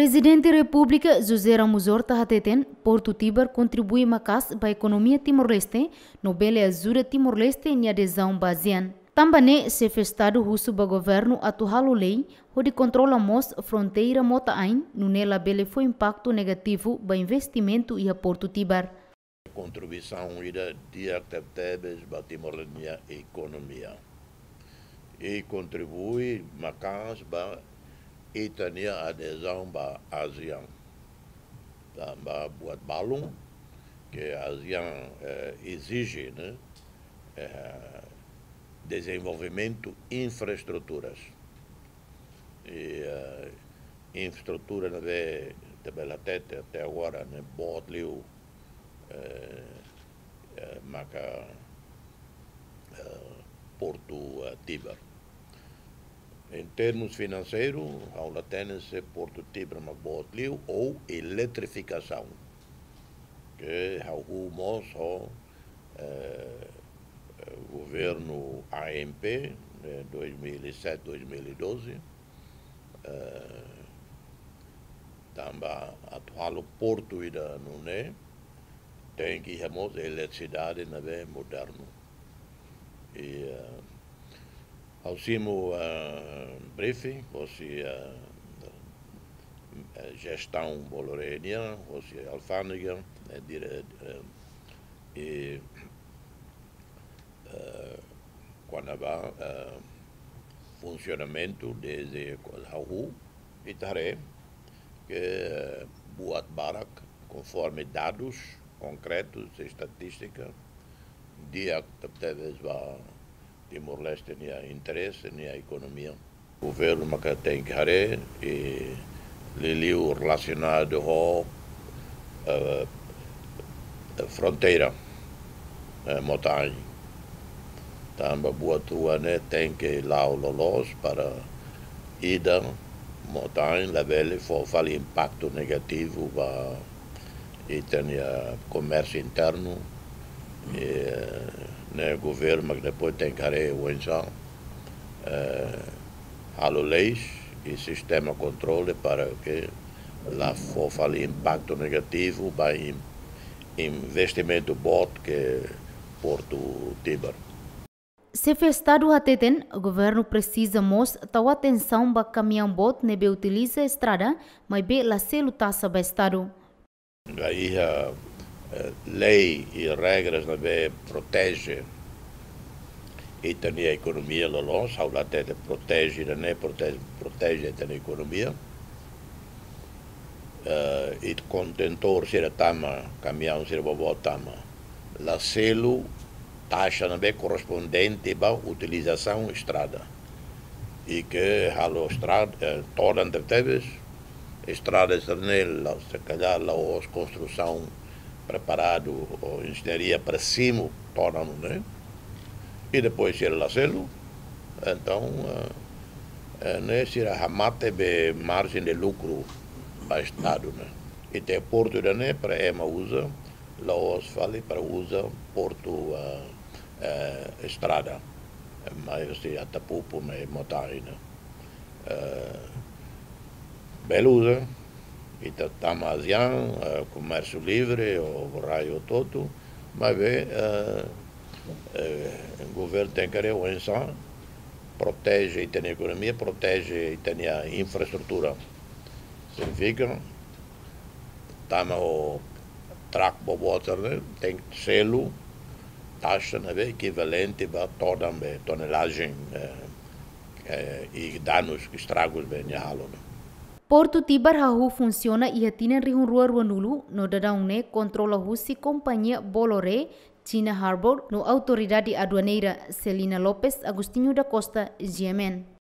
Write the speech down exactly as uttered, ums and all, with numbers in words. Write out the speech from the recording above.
Prezidente Repúblika José Ramos Horta hateten, Portu Tibar kontribui maka'as ba ekonomia Timor-Leste, no bele ajuda Timor-Leste nia adezaun ba ASEAN. Tanba ne'e, Xefe Estadu husu ba governu atu halo lei hodi kontrola mós fronteira mota-ain, nune'e labele fó impaktu negativu ba investimentu iha Portu Tibar. Kontribuisaun ida di'ak tebetebes ba Timor nia ekonomia. I kontribui maka'as ba ita-nia adezaun ba ASEAN. Tanba buat balun ke ASEAN, eh, ezije, ne'e, eh, dezenvolvimentu infraestruturas. I, eh, infraestrutura ne'ebé ita bele hatete até agora ne'e boot liu, eh, eh, maka, eh, Portu, eh, Tibar. Em termos finanseiru, ha'u la hatene se Portu Tibar mak boot liu ou eletrifikasaun. Ke ha'u husu mós ho, eh, eh, governu A M P, eh, dois mil e sete, dois mil e doze, eh, tanba atu halo portu ida nune'e, tenke iha mós eletrisidade ne'ebé modernu. I, eh, ha'u simu, eh, briefing, hosi, eh, eh, jestaun Bolloré nian, hosi alfándega, eh, dire-, eh, i, eh, kona-ba, eh, funsionamentu dezde ha'u ita haree ke, eh, buat barak konforme dadus konkretus, estatístika, di'ak tebes ba Timor-Leste nia interese, nia ekonomia. Governu maka tenke haree, i liuliu relasionadu ho, eh, fronteira, eh, mota-ain. Tanba buat rua ne'e tenke la'o loloos para ida mota-ain labele fó fali impaktu negativu ba ita-nia komérsiu internu. I, eh, ne'e governu mak depois tenke haree oinsá, eh, halo leis i sistema kontrole para ke la fó fali impaktu negativu ba in-, investimentu boot ke Portu Tibar. Xefe Estadu hateten, governu presiza mós tau atensaun ba kamiaun boot ne'ebé utiliza estrada, maibé la selu taxa ba Estadu. Ba iha, eh, lei i regras ne'ebé proteje ita-nia ekonomia loloos, ha'u la hatete proteje ida-ne'e, proteje, proteje ita-nia ekonomia. Eh, i kontentór sira tama, kamiaun sira boboot tama, la selu taxa ne'ebé korrespondente ba utilizasaun estrada. I ke halo estrada, eh, todan tebetebes, estrada sira-ne'e la, se kalhar la'ós konstrusaun preparadu ou enjeñaria para simu todan ne'e. I depois sira la selu, entaun, eh, eh, ne'e sira hamate be marjen de lukru ba Estadu ne'e. Ita-nia portu ida-ne'e para ema uza, la'ós fali para uza portu, eh, eh, estrada. Eh, mai hosi Atapupu, mai mota-ain ne'e. Eh, bele uza, ita tama ASEAN, eh, komérsiu livre, ou rai hotu-hotu, maibé, eh, eh, governu tenke haree oinsá proteje ita-nia ekonomia, proteje ita-nia infraestrutura. Signifika, tama ho truck boboot ne'e, tenke selu taxa ne'ebé ekivalente ba todan be tonelajen, eh, eh, i danus, estragus be nia halo ne'e. Portu Tibar hahú funsiona iha tinan rihun rua ruanulu, no daudaun ne'e kontrola husi kompañia Bolloré, China Harbour, no Autoridade Aduaneira. Celina Lopes, Agostinho da Costa, G M N.